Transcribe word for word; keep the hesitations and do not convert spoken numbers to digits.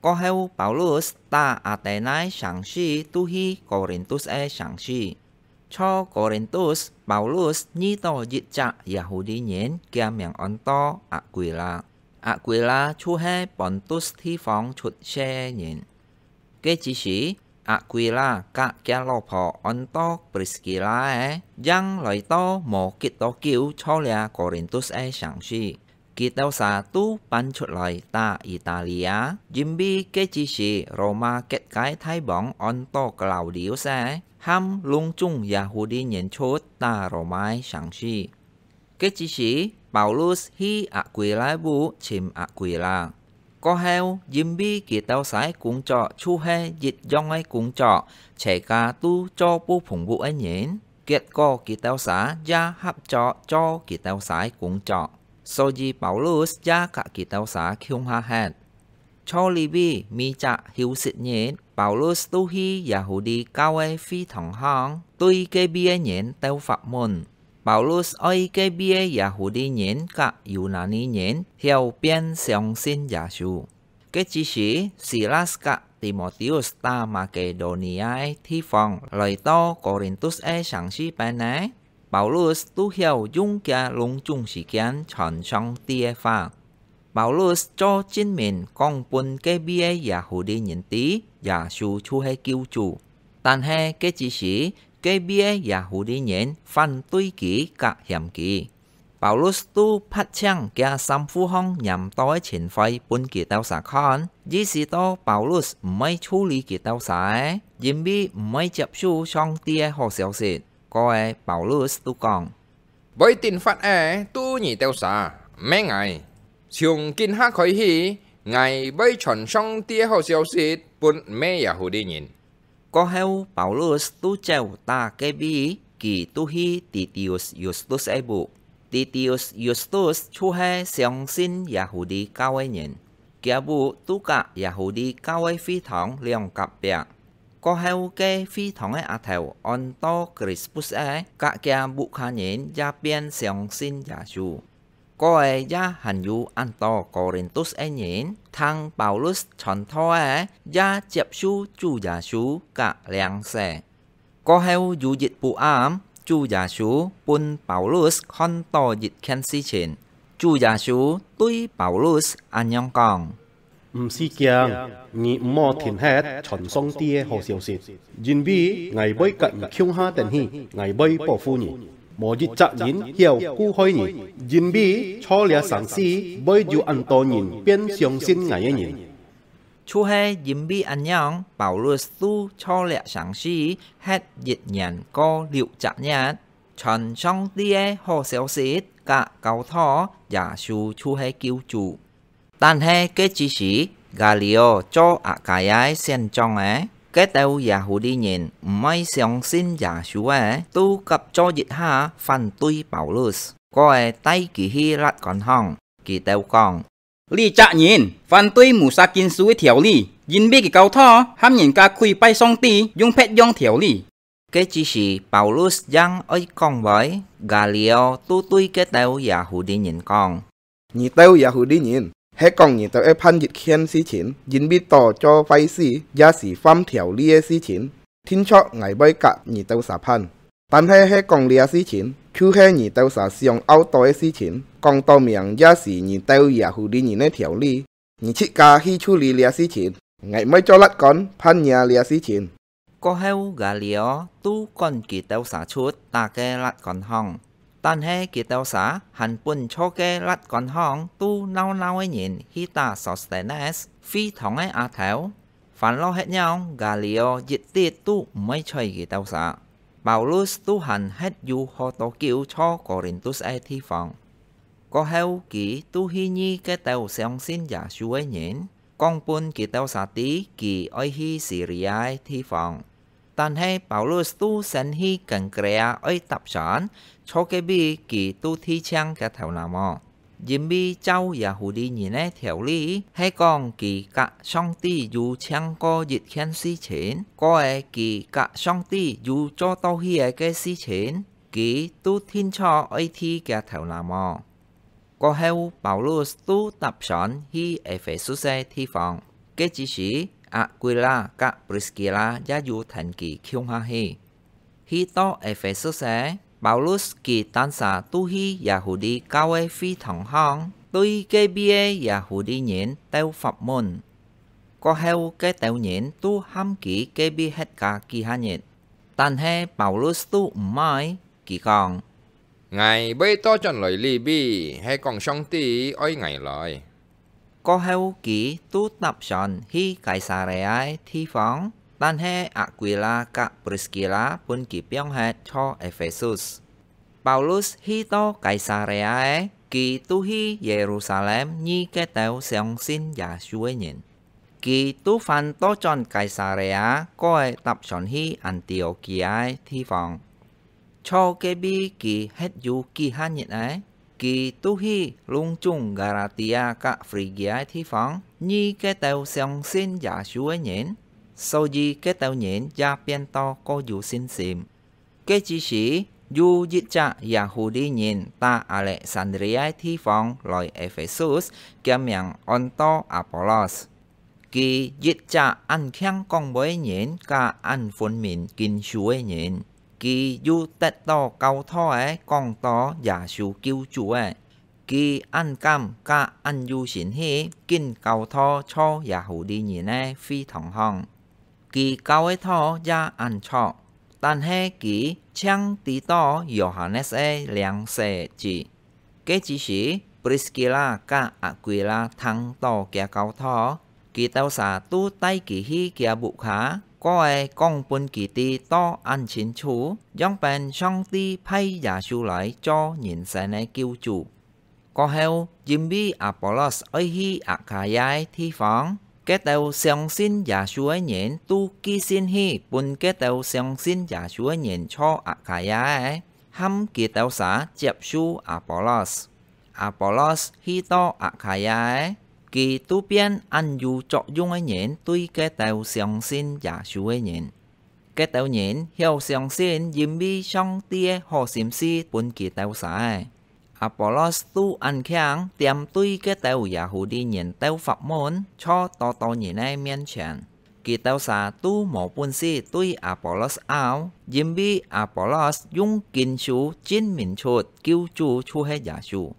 過後，Paulus打Athenai城市，渡去哥林多个城市。在哥林多，Paulus遇到一隻Yahudi人，厥名安到Aquila。Aquila就係Pontus地方出世个人。該之時，Aquila佮厥老婆安到Priskila个，正來到無幾多久，在這哥林多个城市。 佢兜儕都搬出來打Italia，因為該之時羅馬各个大王安到Claudius个，喊攏總Yahudi人出打羅馬个城市。該之時，Paulus去Aquila屋尋Aquila。過後，因為佢兜儕个工作就係一樣个工作，齊家都做布篷屋个人，結果佢兜儕也合作做佢兜儕个工作。 所以Paulus也佮佢兜儕共下歇。在這位每隻休息日，Paulus都去Yahudi教會个會堂項，對該位个人兜發問。Paulus愛該位个Yahudi人佮Yunani人曉變相信耶穌。 該之時，Silas佮Timotheus打Makedonia个地方，來到哥林多个城市邊呢，Paulus都曉用厥攏總時間傳上帝个話。Paulus做證明講分該位个Yahudi人知，耶穌就係救主。但係該之時，該位个Yahudi人反對佢佮嫌佢。 Paulus都拍淨厥衫褲項黏到个塵灰分佢兜儕看，意思到Paulus毋會處理佢兜儕，因為毋會接受上帝个好消息。過後Paulus都講：「會定法个都你兜儕，毋係𠊎。從今下開始，𠊎會傳上帝个好消息分毋係Yahudi人。」 過後，Paulus都走打該位，佢都去Titius Justus个屋。Titius Justus就係相信Yahudi教个人，厥屋都佮Yahudi教个會堂兩隔壁。過後，該會堂个阿頭安到Crispus个，佮厥屋下人也變相信耶穌。 過後也還有恁多哥林多个人，聽Paulus傳道个，也接受主耶穌佮領洗。過後有一晡暗，主耶穌分Paulus看到一件事情。主耶穌對Paulus恁樣講： 毋使驚，你毋好停歇傳上帝个好消息，因為𠊎會佮你共下等去，𠊎會保護你。無一隻人曉故害你，因為在這城市會有恁多人變相信𠊎个人。就係因為恁樣，Paulus都在這城市歇一年過六隻月，傳上帝个好消息佮教導耶穌就係救主。 但係該之時，Galio做Akaia个縣長个，該兜Yahudi人毋愛相信耶穌个，都合作一下反對Paulus，過後帶佢去律官項。佢兜講：「這隻人反對Musa經書个條理，因為佢教導喊人家跪拜上帝用別樣條理。」 該之時，Paulus正愛講話，Galio都對該兜Yahudi人講：「你兜Yahudi人，係講你兜愛辦一件事情，因為到做壞事，也是犯條例个事情，定著𠊎會佮你兜儕辦。但係係講這事情，就係你兜儕想拗到个事情，講到明也是你兜Yahudi人个條例。你自家去處理這事情，𠊎毋會做律官判若這事情。」 過後，Galio都趕佢兜儕出打該律官項。但係佢兜儕還分在該律官項都鬧鬧个人去打Sostenes，會堂个阿頭。煩惱忒樣，Galio一滴都毋會睬佢兜儕。Paulus都還歇有好多久在哥林多个地方。 過後，佢都去遇該兜相信耶穌个人，講分佢兜儕知佢愛去Siria个地方。但係Paulus都先去Kenkrea愛搭船，在該位佢都剃淨厥頭那毛。因為照Yahudi人个條例，係講佢佮上帝有簽過一件事情，過後佢佮上帝有做到去个个事情， 佢都定著愛剃厥頭那毛。過後，Paulus都搭船去Ephesus个地方。該之時，Aquila佮Priskila也有跈佢共下去。去到Ephesus个，Paulus佢單儕都去Yahudi教會會堂項，對該位个Yahudi人鬥發問。過後，該兜人都喊佢隔壁歇加幾下日。但係Paulus都毋愛，佢講：「𠊎會倒轉來這位，係講上帝愛𠊎來。」過後，佢都搭船去該撒利亞个地方，但係Aquila佮Priskila分佢放忒在Ephesus。Paulus去到該撒利亞个，佢都去耶路撒冷遇該兜相信耶穌个人。佢都還倒轉該撒利亞，過搭船去安提阿基亞个地方。在該位佢歇有幾下日仔，佢都去攏總加拉提亞佮Phrygia个地方，遇該兜相信耶穌个人，所以該兜人也變到過有信心。該之時，有一隻Yahudi人打Alexandria个地方來Ephesus，厥名安到Apollos。佢一隻恁慶講話个人，佮恁分明經書个人，佢有得到教導个講到耶穌救主个。佢恁敢佮恁有信心，緊教導在Yahudi人个會堂項。佢教个道也恁著，但係佢淨知道Yohanes个領洗个職。該之時，Priskila佮Aquila聽到厥教導，佢兜儕都帶佢去厥屋下，過講分佢知到恁清楚，仰般上帝派耶穌來做人生个救主。過後，因為Apollos愛去Akhaya个地方，該兜相信耶穌个人都寄信去分該兜相信耶穌个人在Akhaya个，喊佢兜儕接受Apollos。Apollos去到Akhaya个，佢都變恁有作用个人對該兜相信耶穌个人。 該兜人曉相信，因為上帝个好心思分佢兜儕。Apollos都恁慶，恬對該兜Yahudi人兜發問，在多多人个面前。佢兜儕都無本事對Apollos拗，因為Apollos用經書證明出救主就係耶穌。